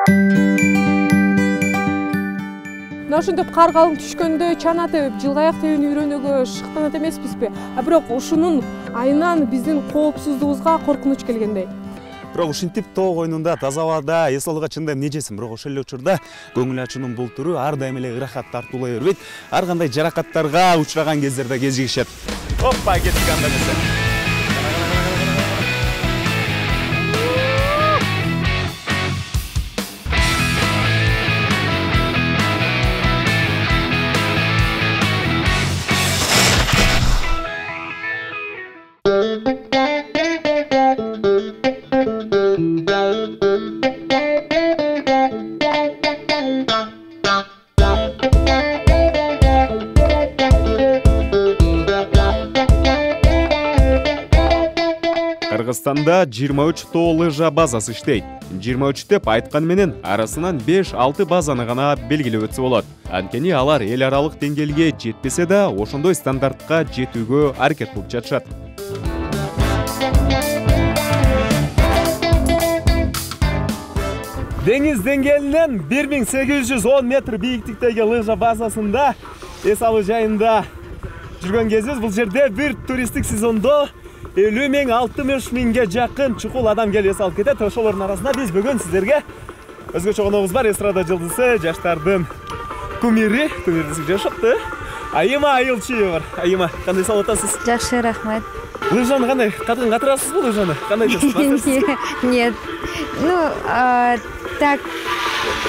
Мына ошентип кар калың түшкөндө чана тебип, жылгаяк тебүүнү үйрөнүүгө шыктанат эмеспизби? Бирок ушунун айынан биздин коопсуздугубузга коркунуч келгендей. Бирок ушинтип тоо койнунда таза абада эс алууга чындап эмне жесин, бирок ошол эле учурда көңүл ачуунун бул туру ар дайым эле ырахат тартуулай бербейт. Ар кандай жаракаттарга учураган кездерде кезигишет. Оппа, кеттик анда эмесе. Кыргызстанда 23 тоо лыжа базасы иштейт. 23 деп айткан менен арасынан 5-6 базаны гана белгилеп өтсө болот. Анткени алар эл аралык деңгээлге жетпесе да, ошондой стандартка жетүүгө аракет кылып жатышат. Деңиз деңгээлинен 1810 метр бийиктиктеги лыжа базасында эс алуу жайында жүргөн кезибиз. Бул жерде бир туристтик сезондо 50-60 миңге жакын чукул адам келип эс алып кетет. Ошолордун арасында биз бүгүн сиздерге өзгөчө коногубуз бар, эстрада жылдызы, жаштардын кумири, жашапты. Айыма Айылчиева бар. Айыма, кандай салып атасыз? Жакшы, рахмат. Лыжаны кандай катырасызбы лыжаны? Кандай десиз? Нет. Так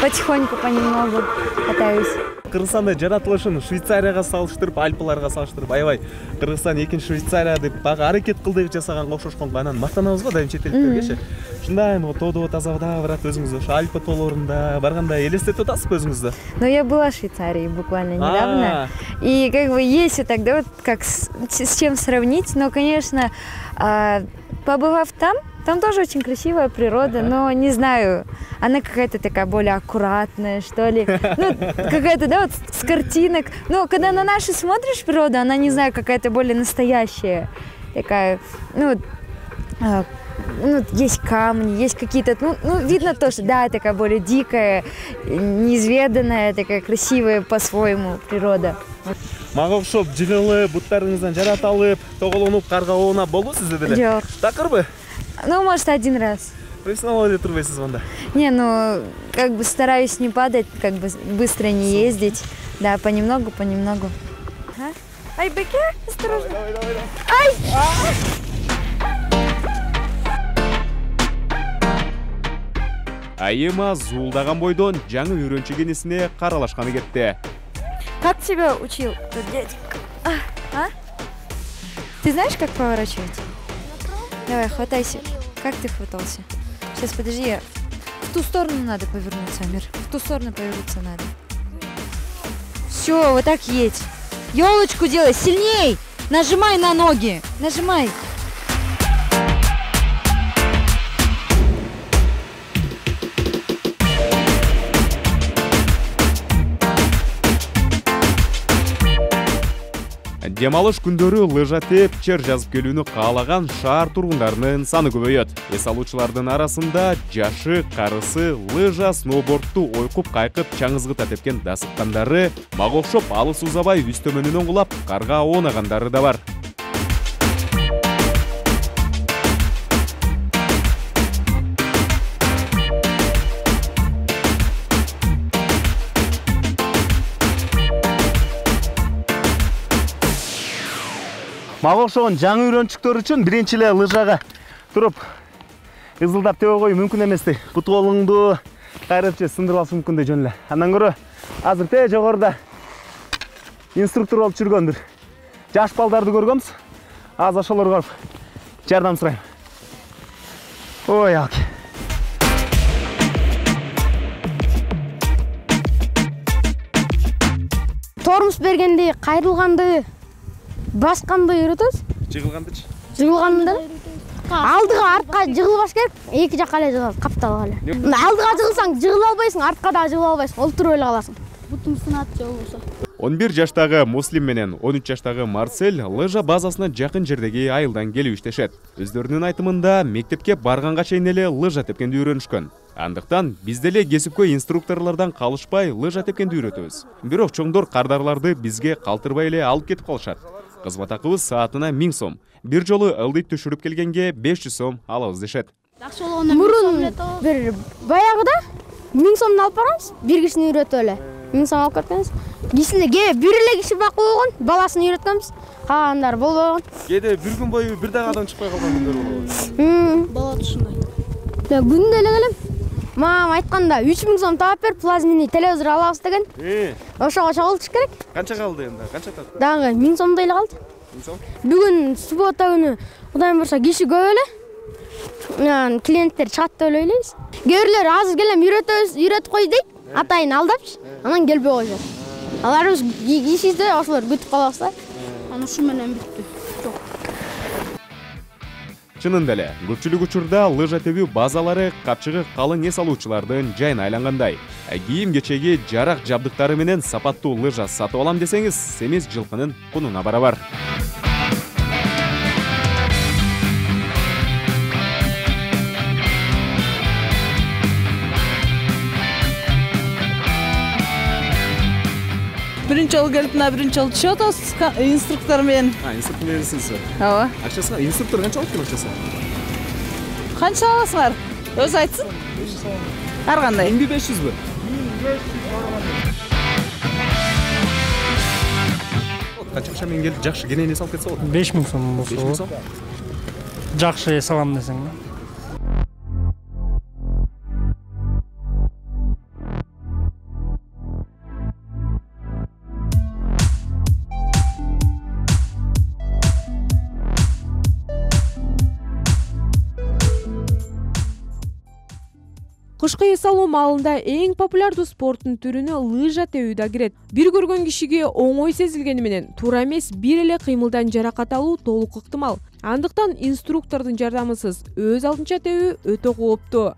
потихоньку, понемногу катаюсь. Кыргызстанда жаратылышын Швейцарияга салыштырып, Альпыларга салыштырып, аябай Кыргызстан экинчи Швейцария деп бага аракет кыл деп жасаганга окшошконго анан мактанабыз го дайым чет элдиктергечи. Ушундай тоодо таза абада барат өзүңүз ошо Альпа тоолорунда барганда элестетип атасызбы өзүңүздү? Ну, я была в Швейцарии буквально недавно. И как бы есть вот тогда вот как с чем сравнить, но, конечно, побывав там тоже очень красивая природа, но не знаю, она какая-то такая более аккуратная, что ли. Ну, какая-то, да, вот с картинок. Но когда на наши смотришь природу, она, не знаю, какая-то более настоящая. Такая, есть камни, есть какие-то, видно то, что, да, такая более дикая, неизведанная, такая красивая по-своему природа. Мага окшоп жыгылып, буттарыңыздан жарат алып, тоголонуп, карга оонап болду сизде деле? Жок. Такырбы? Ну, может, один раз. Профессионал эле турбайсыз анда? Не, как бы стараюсь не падать, как бы быстро не ездить. Да, понемногу. Ай, Беке, осторожно. Давай. Ай! Айыма зуулдаган бойдон жаңы үйрөнчү кенесине каралашканы кетти. Как тебя учил тот дяденька? Ты знаешь, как поворачивать? Давай, хватайся. Как ты хватался? Сейчас, подожди, в ту сторону надо повернуться, Амир. В ту сторону повернуться надо. Все, вот так едь. Ёлочку делай, сильней! Нажимай на ноги, нажимай. Дем алыш күндөрү лыжа теп, чер жазып келүүнү каалаган шаар тургундарынын саны көбөйөт. Эс алуучулардын арасында жашы, карысы, лыжа, сноубордту ойкуп, кайкып, чаңызгыта тепкен дасыккандары, мага окшоп алыс узабай үстөмөнүнөн кулап, карга оонагандары да бар. Мага окшогон жаңы үйрөнчүктөр үчүн биринчи эле лыжага туруп ызылдап тебе коюу мүмкүн эместей. Бут колуңду кайрып же сындырып алышы мүмкүн жөн эле. Андан көрө азыр те жогоруда инструктор болуп жүргөн бир жаш балдарды көргөнбүз. Азыр ошолорго жардам сурайм. Ой, алки. Тормуз бергенде кайрылганды басканды үйрөтөбүз. Жыгылгандычы? Жыгылганда алдыга артка жыгылбаш керек, эки жакка эле жыгылат, капталып эле. Алдыга жыгылсаң жыгыла албайсың, артка да жыгыла албайсың, олтуруп эле каласың. Бутуң сынат же болбосо. 11 жаштагы Муслим менен 13 жаштагы Марсель лыжа базасына жакын жердеги айылдан келип иштешет. Өздөрүнүн айтымында мектепке барганга чейин эле лыжа тепкенди үйрөнүшкөн. Андыктан биз деле кесипкөй инструкторлордон калышпай лыжа тепкенди үйрөтөбүз. Бирок чоңдор кардарларды бизге калтырбай эле алып кетип калышат. Кызмат акыбыз саатына 1000 сом. Бир жолу ылдый түшүрүп келгенге 500 сом алабыз дешет. Жакшы болгондо мурун бир баягыда 1000 сомдон алып барганбыз. Бир кишини үйрөтүп эле 1000 сом алып кеткенбиз. Кичине бир эле киши макул болгон, баласын үйрөткөнбүз. Калгандар болбогон. Кээде бир күн бою бир дагы адам чыкпай калган күндөр болобу? Болот ушундай. Күндө эле келем. Мамам айтканда 3000 сом таап бер, плазменный телевизор алабыз деген. Ошого чогултуш керек. Канча калды энди? Канча татты? Дагы 1000 сомдой эле калды. 1000 сом? Бүгүн суббота күнү Кудайым буйрса киши көп эле. Клиенттер чыгат деп ойлойбуз. Кээрлер азыр келем үйрөтүп кой дейт. Атайын алдапчы. Анан келбей коюшат. Аларыбыз кишиде ошолор күтүп калабыз да. Аны ушу менен бүттү. Чынында эле, көпчүлүк учурда лыжа тебүү базалары капчыгы калың эс алуучулардын жайына айлангандай. Кийим-кечеги, жарак жабдыктары менен сапаттуу лыжа сатып алам десеңиз, семиз жылкынын кунуна барабар. Биринчи жолу келип, биринчи жолу түшүп атабыз инструктор менен. Инструктор мененсиз. Ооба. Акчасы инструктор канча алып акчасы? Канча аласыңар? Өзү айтсын. Ар кандай? 1500бү? Канча акча менен келип жакшы кенен эс алып кетсе болот? 5000 сом болсо. 5000 сом? Жакшы эс алам десең. Кышкы эс алуу маалында эң популярдуу спорттун түрүнө лыжа тебүү да кирет. Бир көргөн кишиге оңой сезилгени менен туура эмес бир эле кыймылдан жаракат алуу толук ыктымал. Андыктан инструктордун жардамысыз өз алдынча тебүү өтө кооптуу.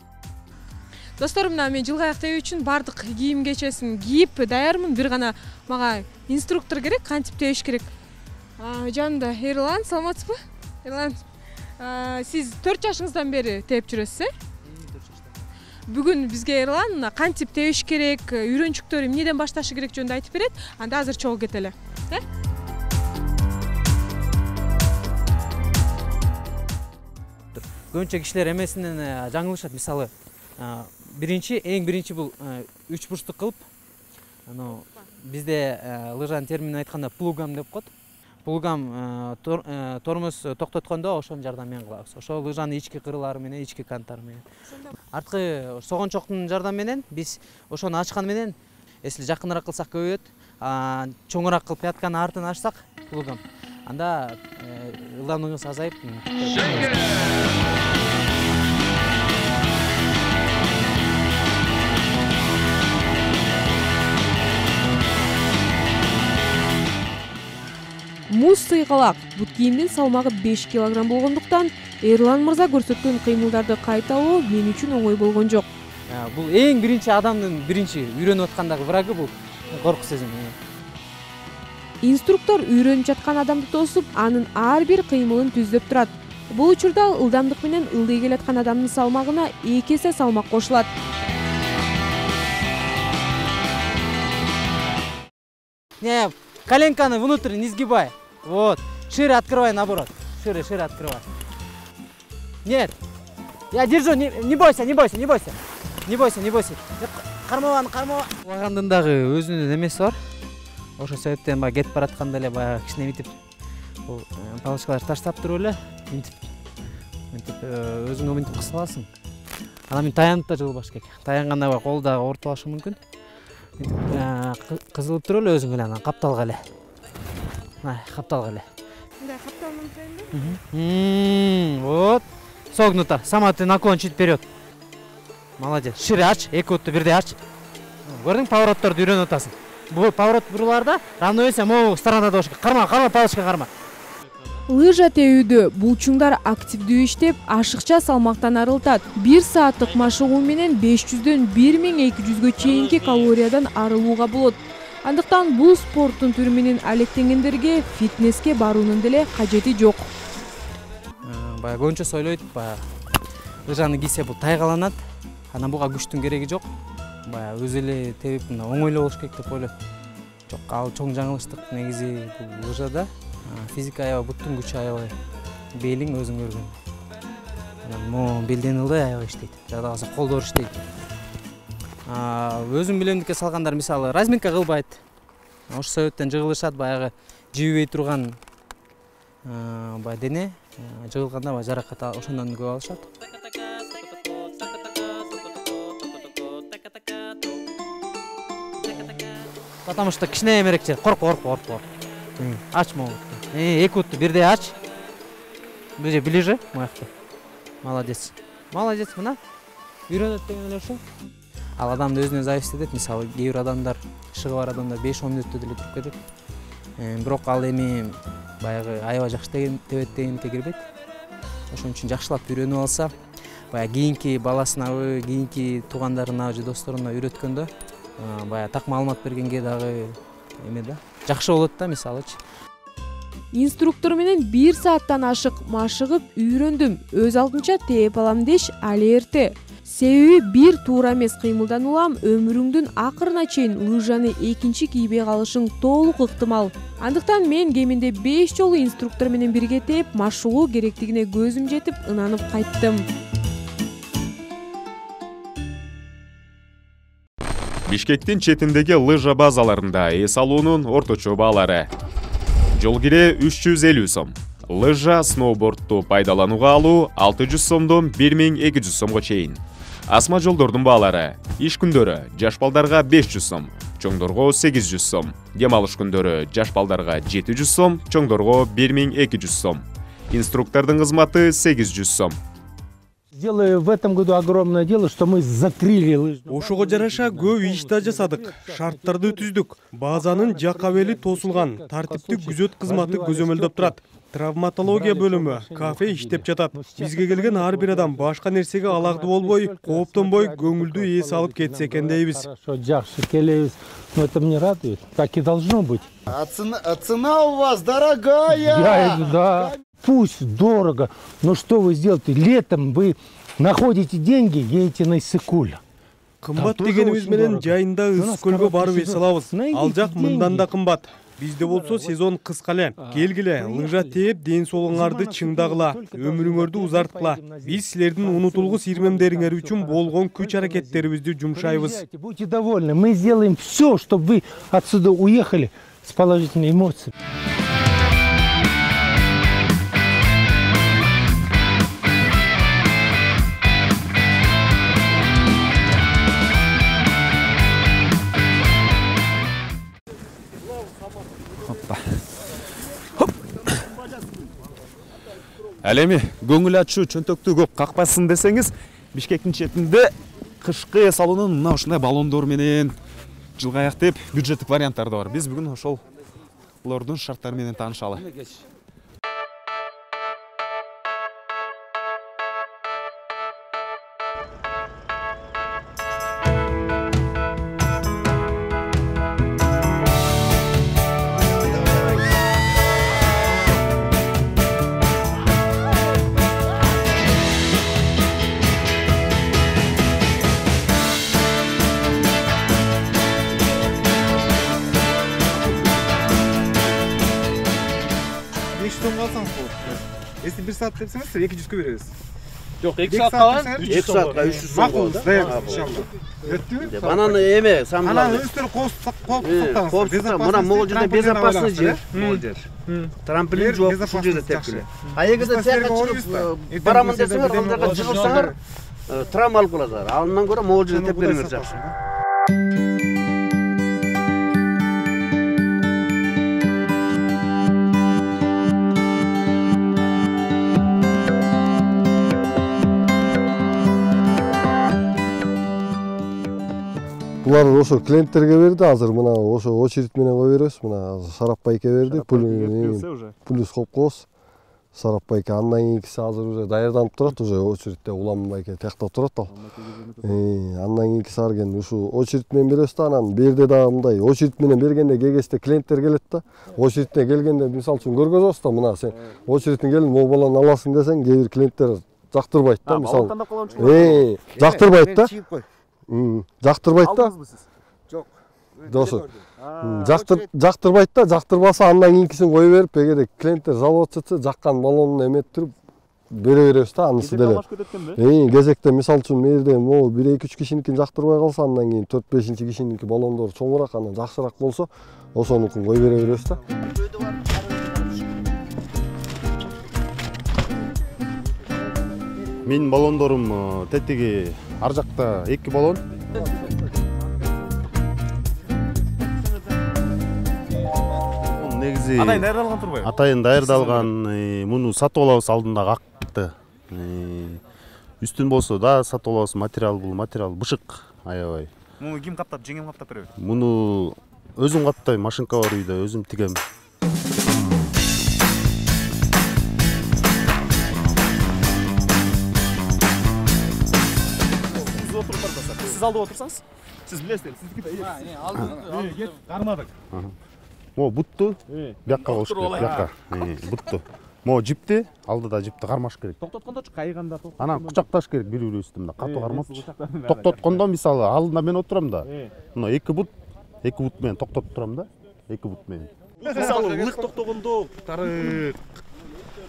Достор, мына мен жылгы аяк тебүү үчүн бардык кийим-кечесин кийип даярмын. Бир гана мага инструктор керек, кантип тебиш керек. Жанында Эрлан, саламатсызбы? Эрлан, сиз 4 жашыңыздан бери теп жүрөсүз, Бүгүн бизге Эрлан кантип тебиш керек, үйрөнчүктөрү эмнеден башташы керек жөнүндө айтып берет. Анда азыр чогуу кетели. Көбүнчө кишилер эмесинен жаңылышат. Мисалы, эң биринчи бул 3 бурчтук кылып, бизде лыжанын терминин айтканда плугам деп коет. Плугам тормоз токтоткондо ошонун жардамы менен кылабыз. Ошол лыжанын ички кырылары менен, ички канттары менен. Арткы согончоктун жардамы менен биз ошону ачкан менен, если жакыныраак кылсак көбөйөт, чоңураак кылып пятканын артын ачсак, плугам, анда ылдамдыгыбыз азайып. Муз сыйгалак, бут кийимдин салмагы 5 кг болгондуктан Эрлан мырза көрсөткөн кыймылдарды кайталоо мен үчүн оңой болгон жок. Бул эң биринчи адамдын биринчи үйрөнүп аткандагы врагы бул корку сезим. Инструктор үйрөнүп жаткан адамды тосуп, анын ар бир кыймылын түздөп турат. Бул учурда ылдамдык менен ылдый келаткан адамдын салмагына 2 эсе салмак кошулат. Не, коленканы внутрь не сгибай. Вот. Шире открывай, наоборот. Шире открывай. Нет. Я держу. Не бойся. Кармабан. Лагандын дагы өзүнүн эмеси бар. Ошол себептен баягы кетип баратканда эле баягы кичине мынтип бул палочкаларды таштап туруп эле мынтип өзүңө мынтип кыса аласың. Анан мен таянып да жылбаш керек. Таянганда баягы кол да оорупталышы мүмкүн. Кызылып туруп эле өзүң эле анан капталга эле. Капталга эле. Мындай капталмын да. Вот. Согнуто. Сама ты наклон чуть вперед. Молодец. Шире ач, эки бутты бирдей ач. Көрдүң, поворотторду үйрөнүп атасың. Бул поворот буруларда равновесие могу сторонада болуш керек. Карма, палочка карма. Лыжа тебүүдө булчуңдар активдүү иштеп, ашыкча салмактан арылтат. 1 сааттык машыгуу менен 500дөн 1200гө чейинки калориядан арылууга болот. Андыктан бул спорттун түрү менен алектенгендерге фитнеске баруунун деле кажети жок. Баягы көбүнчө ойлойт, лыжаны кийсе бул тайгаланат. Анан буга күчтүн кереги жок. Баягы өзү эле тебип мына оңойлуу болуш керек деп ойлойм. Жок, ал чоң жаңылыштык негизи бул лыжада. Физика аябай, буттун күчү аябай. Белиң өзүң көргөн. Анан могу белден ылдый аябай иштейт. Жада калса колдор иштейт. Өзүм билемдикке салгандар мисалы разминка кылбайт. Ошол себептен жыгылышат, баягы жибибей турган баягы дене жыгылганда баягы жаракат ошондон көп алышат. Потому что кичинемерээк жер, коркпо. Ач могу. Эки бутту бирдей ач. Бул же ближе, моякта. Молодец. Мына. Үйрөнөт деген эле ошо. Ал адамды өзүнө зависит этет. Мисалы, кээ бир адамдар, ишиги бар адамдар 5-10 мүнөттө деле туруп кетет. Бирок ал эми баягы аябай жакшы тебет дегенге кирбейт. Ошон үчүн жакшылап үйрөнүп алса, баягы кийинки баласынабы, кийинки туугандарына же досторуна үйрөткөндө, баягы так маалымат бергенге дагы эме да, жакшы болот да, мисалычы. Инструктор менен 1 сааттан ашык машыгып үйрөндүм. Өз алдынча тээп алам деш али эрте. Себеби бир туура эмес кыймылдануулам өмүрүңдүн акырына чейин лыжаны экинчи кийбей калышың толук ыктымал. Андыктан мен кеминде 5 жолу инструктор менен бирге тээп машыгуу керектигине көзүм жетип ынанып кайттым. Бишкектин четиндеги лыжа базаларында эс алуунун орточо баалары. Жол кире 350 сом. Лыжа, сноубордту пайдаланууга алуу 600 сомдон 1200 сомго чейин. Асма жолдордун баалары. Иш күндөрү жаш балдарга 500 сом, чоңдорго 800 сом. Дем алыш күндөрү жаш балдарга 700 сом, чоңдорго 1200 сом. Инструктордун кызматы 800 сом. Сделали в этом году огромное дело, что мы закрыли лыжную. Ошого жараша көп иш да жасадык. Шарттарды түздүк. Базанын жакка бели тосулган. Тартиптик күзөт кызматы көзөмөлдөп турат. Травматология бөлүмү, кафе иштеп жатат. Бизге келген ар бир адам башка нерсеге алагды болбой, кооптонбой, көңүлдүү эс алып кетсе экен дейбиз. Хорошо, жакшы келебиз. Но это мне радует. Так и должно быть. А цена у вас дорогая. Да. Пусть дорого, но что вы сделаете? Летом вы находите деньги, едете на Иссык-Куль. Кымбат дегенибиз менен жайында Ысык-Көлгө барып эс алабыз. Ал жак мындан да кымбат. Бизде болсо сезон кыска эле. Келгиле, лыжа тээп, ден соолуңарды чыңдагыла, өмүрүңөрдү узарткыла. Биз силердин унутулгус ирмемдериңер үчүн болгон күч-аракеттерибизди жумшайбыз. Будьте довольны, мы сделаем все, чтобы вы отсюда уехали с положительными эмоциями. Ал эми көңүл ачуу чөнтөктү көп какпасын десеңиз, Бишкектин четинде кышкы эс алуунун мына ушундай баллондор менен жылгаяк деп бюджеттик варианттар да бар. Биз бүгүн ошолордун шарттары менен таанышалы. Если 1 saat депсеңиз, 200 беребиз. Жок, 2 saatка 300 сомго. 300 сом. Макул, иншалла. Өттүбү? Анан эме, сам анан өстөрү коопсуздук. Мына могул жерде безопасный жер. Могул жер. Трамплин жок, ушул жерде тепкиле. А эгерде тияка чыгып барамын десеңер, ал жака чыгылсаңар, травма алып каласыңар. Андан көрө могул жерде тепкилеңер жакшы. Булар ошо клиенттерге берди, азыр мына ошо очередь менен кое беребиз. Мына Сарапбайке берди, плюс Холкос, Сарапбайке. Андан кийинкиси азыр уже даярданып турат, уже очередте Уламбайке тияктап турат ал. Андан кийинкиси арген ушу очередь менен беребиз да, анан берде дагы мындай очередь менен бергенде кегесте клиенттер келет да. Очередте келгенде мисалы үчүн көргөзөбүз да, мына сен очередтен келип могу баланы аласың десең, кээ бир клиенттер жактырбайт да, мисалы. Балон тандап калган үчүн. Жактырбайт да. Жактырбайт да. Жок. Досу. Жактырбайт да, жактырбаса андан кийинкисин кое берип, эгер клиенттер жалоп атса, жаккан балонун эметип бере беребиз да, анысы деле. Кезекте мисалы үчүн мээрде могу 1-2-3 кишиникин жактырбай калса, андан кийин 4-5 кишиники балондор чоңураак, анан жакшыраак болсо, ошонукун кое бере беребиз да. Менин балондорум тетиги ар жакта 2 балон. Негизи Атайын даярдалган турбайбы? Атайын даярдалган, муну сатып алабыз алдында акты. Үстүн болсо да сатып алабыз, материал бул материал бышык, аябай. Муну ким каптап, жеңем каптап береби? Муну өзүм каптайм, машинка бар үйдө, өзүм тигем. Siz aldып отурсаңыз, siz билесиз, сиздики алдыңыз. Кармадык. Мо бутту, бияка болуш керек, бияка. Бутту. Мо жипти, алдыда жипти кармаш керек. Токтоткондочу кайганда Анан кучакташ керек бири-бирибизди, мында катуу кармапчы. Токтоткондо мисалы алдында мен отурам да. Мына 2 бут менен токтотуп турам да. 2 бут менен. Мисалы ылык токтогондо тарык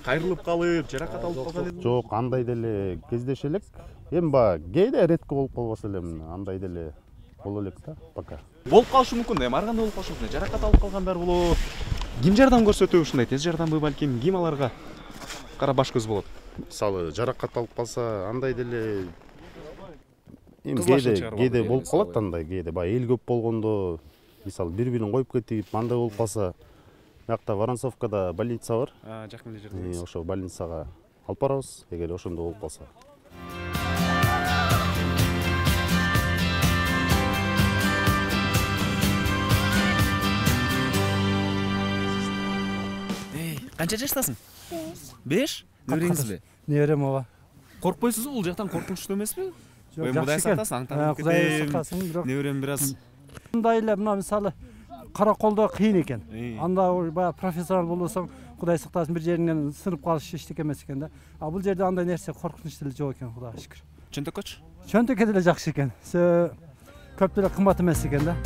кайрылып калып, жаракат алып калган эле. Жок, андай деле кездеше элек. Эми баягы кээде редко болуп калбаса эле, андай деле боло элек да, пока. Болуп калышы мүмкүн, эми ар кандай болуп калышы мүмкүн. Жаракат алып калгандар болот. Ким жардам көрсөтөбү ушундай тез жардамбы, балким ким аларга кара баш көз болот? Мисалы жаракат алып калса, андай деле кээде болуп калат андай, кээде баягы эл көп болгондо, мисалы бири-бирин коюп кетип, андай болуп калса, биякта Воронцовкада больница бар. Жакын эле жерде. Ошо больницага алып барабыз, эгер ошондо болуп калса. Канча жаштасың? 5? Небереңизби? Неберем ооба. Коркпойсузбу? Бул жактан коркунучтуу эмеспи? Жок, Кудай сактасын, аңтаңып кетем. Кудай сактасын, бирок неберем бир аз. Мындай эле мына мисалы караколдо кыйын экен. Анда баягы профессионал болсоң, Кудай сактасын, бир жериңден сынып калыш эчтеке эмес экен да. А бул жерде андай нерсе коркунуч деле жок экен, Кудайга шүкүр. Чөнтөккөчү? Чөнтөккө деле жакшы экен. Көп деле кымбат эмес экен да.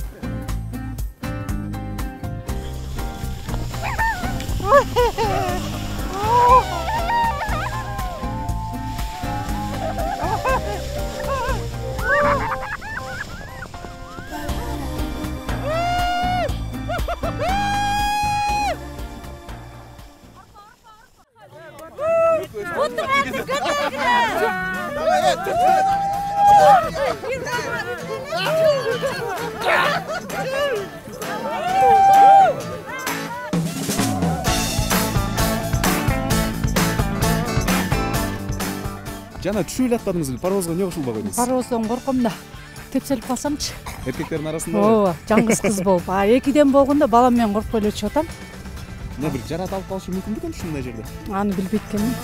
Жана түшүп эле аткандыңызбы? Паровозго эмне кошулбай койдуңуз? Паровоздон корком да. Тепселип калсамчы. Эркектердин арасында? Ооба, жаңгыз кыз болуп. А экиден болгондо балам менен коркпой эле чыгып атам. Мына бир жарат алып калышы мүмкүн бекен ушундай жерде? Аны билбейт экенмин.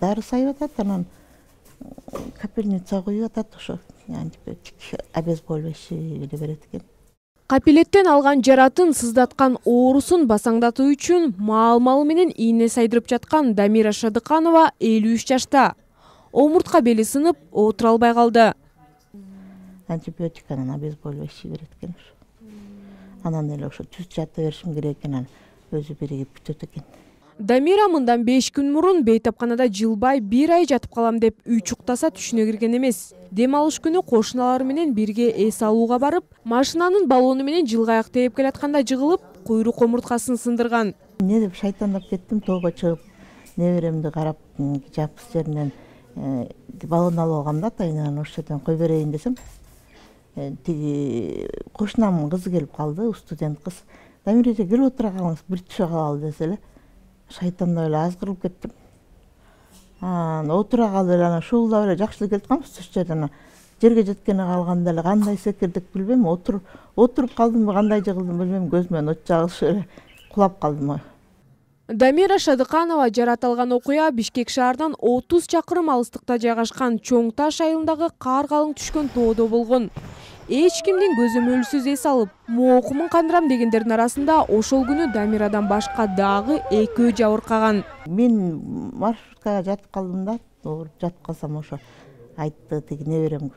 Дары сайып атат, анан капельница коюп атат, ошо антибиотик обезболивающий эле берет экен. Капилеттен алган жаратын сыздаткан оорусун басаңдатуу үчүн маал-малы менен ийне сайдырып жаткан Дамира Шадыканова 53 жашта. Омуртка бели сынып, отура албай калды. Антибиотик анан обезболивающий берет экен ошо. Анан эле ошо түз жата беришим керек экен, анан өзү биригип бүтөт экен. Дамира мындан 5 күн мурун бейтапканада жылбай 1 ай жатып калам деп үй чуктаса түшүнө кирген эмес. Дем алыш күнү кошуналары менен бирге эс алууга барып, машинанын баллону менен жылгаяк тээп келатканда жыгылып, куйрук омурткасын сындырган. Эмне деп шайтандап кеттим, тоого чыгып, неберемди карап, жапыс жеринен баллон алып алгам да, атайынан ошол жерден кой берейин десем, тиги кошунамдын кызы келип калды, студент кыз. Дамира эже келип отура калыңыз, бир түшө калалы десе эле. Шайтандап эле азгырылып кеттим. Отура калып эле анан шуулдап эле жакшы эле келип атканбыз, түш жерден жерге жеткене калганда эле кандай секирдик билбейм, отуруп калдымбы, кандай жыгылдым билбейм, көзүмөн от чагылышып эле кулап калдым. Дамира Шадыканова жаратылган окуя Бишкек шаарынан 30 чакырым алыстыкта жайгашкан Чоң Таш айылындагы кар калың түшкөн тоодо болгон. Эч кимдин көзөмөлсүз эс алып, моокумун кандырам дегендердин арасында ошол күнү Дамирадан башка дагы экөө жабыркаган. Мен маршруткага жатып калдым да, жатып калсам ошо айтты тиги неберем,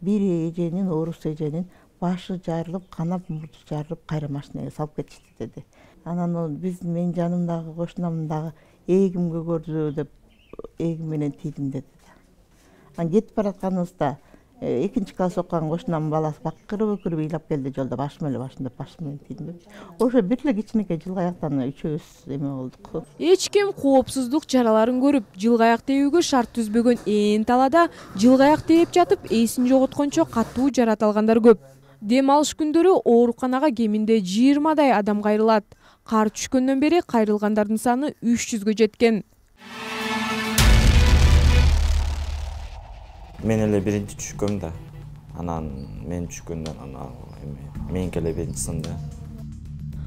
бир эженин, орус эженин башы жарылып, канап мурду жарылып, кайра машинага салып кетишти деди. Анан биз менин жанымдагы кошунамдын дагы эгимге көрдү деп эгим менен тийдим деди. Анан кетип баратканыбызда экинчи класс окуган кошунамдын баласы бакырып ыйлап келди жолдо, башым эле башым деп башым менен тийдим деп. Ошо бир эле кичинекей жылгаяктан үчөөбүз эме болдук. Эч ким коопсуздук чараларын көрүп, жылгаяк тебүүгө шарт түзбөгөн ээн талаада жылгаяк тээп жатып эсин жоготкончо катуу жаратылгандар көп. Дем алыш күндөрү ооруканага кеминде 20 адам кайрылат. Кар түшкөндөн бери кайрылгандардын саны 300гө жеткен. Мен эле биринчи түшкөм да. Анан мен түшкөндөн меники эле биринчи сынды.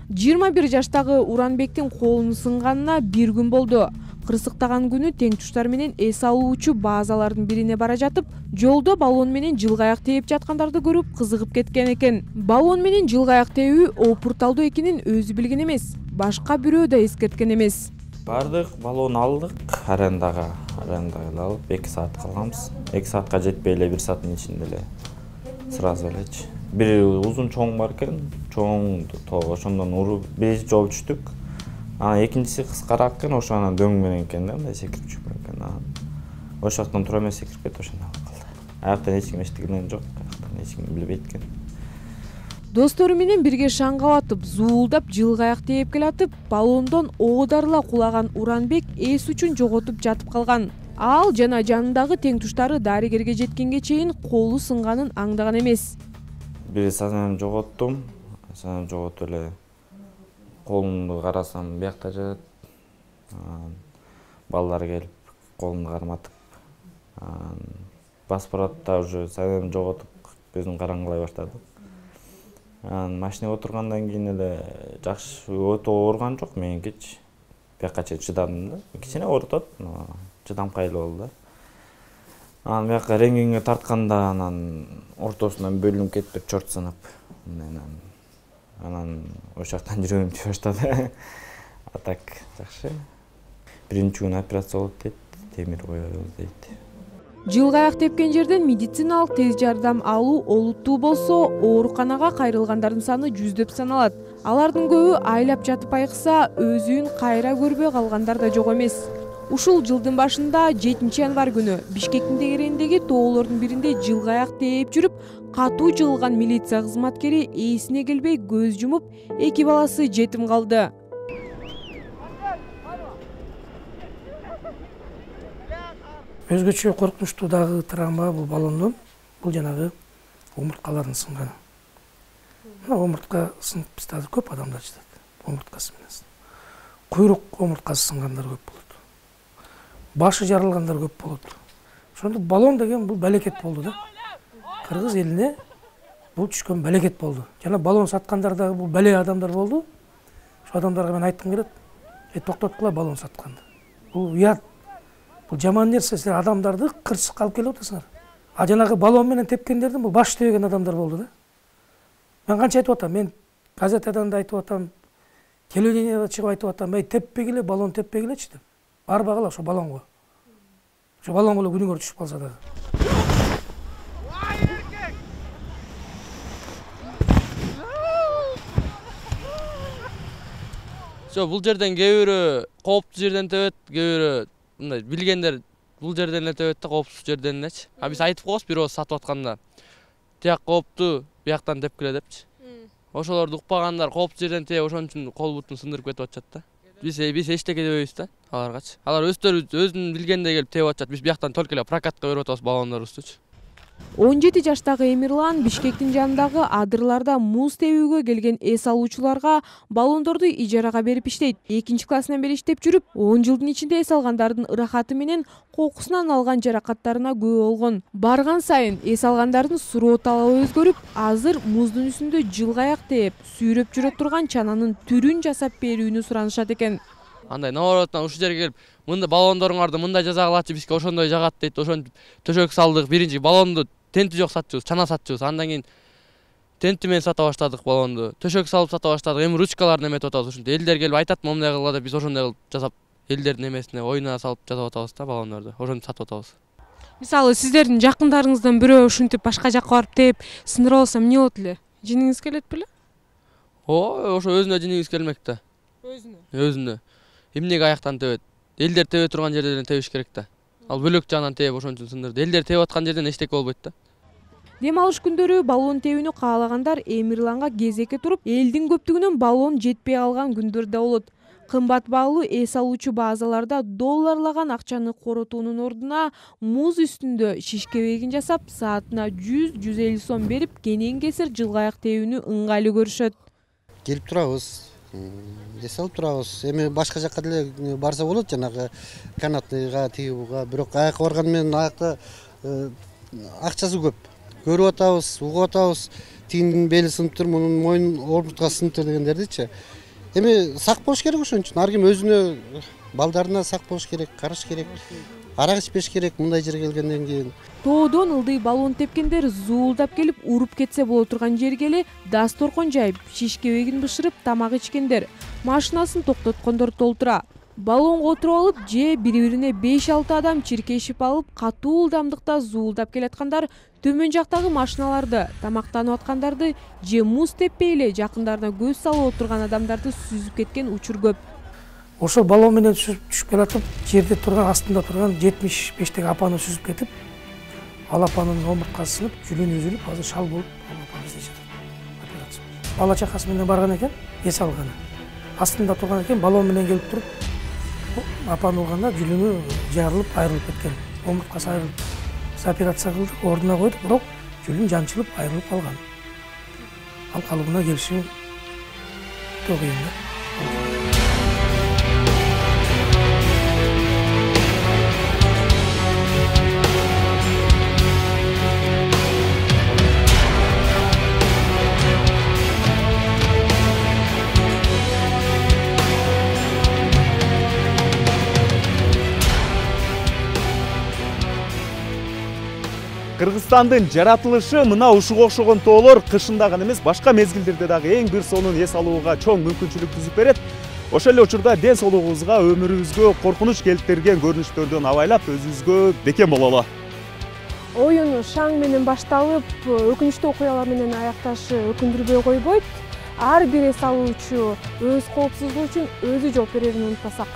21 жаштагы Уранбектин колунун сынганына 1 күн болду. Кырсыктаган күнү тең туштар менен эс алуучу базалардын бирине бара жатып, жолдо баллон менен жылгаяк тээп жаткандарды көрүп кызыгып кеткен экен. Баллон менен жылгаяк тээүү опурталдуу экенин өзү билген эмес, башка бирөө да эскерткен эмес. Бардык, баллон алдык, арендага алып 2 саат калганбыз. 2 саатка жетпей эле 1 сааттын ичинде эле сразу элечи. Бир узун чоң бар экен, чоң ошондон уруп биринчи жооп түштүк. Анан экинчиси кыскараак экен, ошо анан дөң менен экен да, мындай секирип түшүп экен. Ошол жактан тура эмес секирип кетти, ошондой болуп калды. Аяктан эч ким эчтеген жок, аяктан эч ким билбейт экен. Достору менен бирге шаңгап атып, зуулдап жылгаяк тээп келатып, баллондон оодарыла кулаган Уранбек эс үчүн жоготуп жатып калган. Ал жана жанындагы тең туштары дарыгерге жеткенге чейин колу сынганын аңдаган эмес. Бир сазнам жоготтум, сазнам жоготуп эле колумду карасам биякта жатат. Балдар келип колумду карматып, басып баратта уже сазнам жоготуп көзүм караңгылай баштады. Машинага отургандан кийин эле жакшы өтө ооруган жок меникичи. Бияка чейин чыдадым да. Кичине оорутат, чыдамкайлуу болду да. Анан бияка рентгенге тартканда анан ортосунан бөлүнүп кетип чорт сынып. Анан ошол жактан жүрөгүм тийе баштады. А так жакшы. Биринчи күнү операция болот дейт, темир коёбуз дейт. Жылгаяк тепкен жерден медициналык тез жардам алуу олуттуу болсо, ооруканага кайрылгандардын саны 100 саналат. Алардын көбү айлап жатып айыкса, өзүн кайра көрбөй калгандар да жок эмес. Ушул жылдын башында 7-январь күнү Бишкектин тегерегиндеги тоолордун биринде жылгаяк тээп жүрүп, катуу жыгылган милиция кызматкери эсине келбей көз жумуп, 2 баласы жетим калды. Өзгөчө коркунучтуу дагы травма бул баллондон, бул жанагы омурткалардын сынганы. Омуртка сынып бизде азыр көп адамдар жатат. Омурткасы менен. Куйрук омурткасы сынгандар көп болот. Башы жарылгандар көп болот. Ошондо баллон деген бул балекет болду да. Кыргыз элине бул түшкөн балекет болду. Жана баллон саткандар дагы бул бале адамдар болду. Ошо адамдарга мен айткым келет, токтоткула баллон сатканды. Бул уят. Бул жаман нерсе, силер адамдарды кырсыкка алып келип атасыңар. А жанагы баллон менен тепкендердин бул баш тебеген адамдар болду да. Мен канча айтып атам, мен газетадан да айтып атам, телевидениеде чыгып айтып атам, теппегиле, баллон теппегилечи деп. Барбагыла ошо баллонго. Ошо баллонго эле күнүңөр түшүп калса дагы. Бул жерден кээ бирөө кооптуу жерден тебет, кээ бирөө мындай билгендер бул жерден эле тебет да, кооптуу жерден элечи. Биз айтып коебуз бирөө сатып атканда. Тияк кооптуу, бияктан тепкиле депчи. Ошолорду укпагандар кооптуу жерден тээп, ошон үчүн кол бутун сындырып кетип атышат да. Биз эчтеке дебейбиз да аларгачы. Алар өздөрү өзүнүн билгендей келип тээп атышат. Биз бияктан только эле прокатка берип атабыз баллондорубуздучу. 17 жаштагы Эмирлан Бишкектин жанындагы адырларда муз тебүүгө келген эс алуучуларга баллондорду ижарага берип иштейт. 2-классынан бери иштеп жүрүп, 10 жылдын ичинде эс алгандардын ырахаты менен кокусунан алган жаракаттарына күбө болгон. Барган сайын эс алгандардын суроо талабы өзгөрүп, азыр муздун үстүндө жылгаяк тээп, сүйрөп жүрө турган чананын түрүн жасап берүүнү суранышат экен. Андай наобороттон ушул жерге келип, мында баллондоруңарды мындай жасагалачы, бизге ошондой жагат дейт. Ошентип төшөк салдык. Биринчи баллонду тенти жок сатчубуз, чана сатчубуз. Андан кийин тенти менен сата баштадык баллонду. Төшөк салып сата баштадык. Эми ручкаларын эметип атабыз. Ушинтип элдер келип айтат, момундай кылгыла деп биз ошондой кылып жасап, элдердин эмесине оюна салып жасап атабыз да баллондорду. Ошентип сатып атабыз. Мисалы, сиздердин жакындарыңыздан бирөө ушинтип башка жакка барып тээп, сындырып алса эмне болот эле? Жиниңиз келет беле? Ошо өзүнө жиниңиз келмек да. Өзүнө. Эмнеге аяктан тебет? Элдер тебе турган жерден тебиш керек да. Ал бөлөк жагынан тээп ошон үчүн сындырды. Элдер тебип аткан жерден эчтеке болбойт да. Дем алыш күндөрү баллон тебүүнү каалагандар Эмирланга кезекке туруп, элдин көптүгүнөн баллон жетпей калган күндөр да болот. Кымбат баалуу эс алуучу базаларда долларлаган акчаны коротуунун ордуна муз үстүндө шишкебегин жасап, саатына 100-150 сом берип, кенен кесир жылгаяк тебүүнү ыңгайлуу көрүшөт. Келип турабыз. Эс алып турабыз. Эми башка жакка деле барса болот, жанагы канатныйга, тигибуга. Бирок аякка барган менен аякта акчасы көп. Көрүп атабыз, угуп атабыз. Тигиндин бели сыныптыр, мунун мойнун омурткасы сыныптыр дегендердичи. Эми сак болуш керек ошон үчүн. Ар ким өзүнө, балдарына сак болуш керек, караш керек. Арак ичпеш керек мындай жерге келгенден кийин. Тоодон ылдый баллон тепкендер зуулдап келип, уруп кетсе боло турган жерге эле дасторкон жайып, шишкебегин бышырып, тамак ичкендер, машинасын токтоткондор толтура. Баллонго отуруп алып, же бири-бирине 5-6 адам чиркешип алып, катуу ылдамдыкта зуулдап келаткандар төмөн жактагы машиналарды, тамактанып аткандарды, же муз теппей эле жакындарына көз салып отурган адамдарды сүзүп кеткен учур көп. Ошо баллон менен түшүп келатып, жерде турган, астында турган 75теги апаны сүзүп кетип, ал апанын омурткасы сынып, жүлүнү үзүлүп, азыр шал болуп, ал апа бизде жатат. Операция. Бала чакасы менен барган экен, эс алганы. Астында турган экен, баллон менен келип туруп, апаны алганда жүлүнү жарылып, айрылып кеткен. Омурткасы айрылып, операция кылдык, ордуна койдук, бирок жүлүн жанчылып, айрылып калган. Ал калыбына келиши өтө кыйын да. Кыргызстандын жаратылышы мына ушуга окшогон тоолор кышында гана эмес, башка мезгилдерде дагы эң бир сонун эс алууга чоң мүмкүнчүлүк түзүп берет. Ошол эле учурда ден соолугубузга, өмүрүбүзгө коркунуч келтирген көрүнүштөрдөн абайлап, өзүбүзгө бекем бололу. Оюн шаң менен башталып, өкүнүчтүү окуялар менен аякташы өкүндүрбөй койбойт. Ар бир эс алуучу өз коопсуздугу үчүн өзү жооп берерин унутпасак.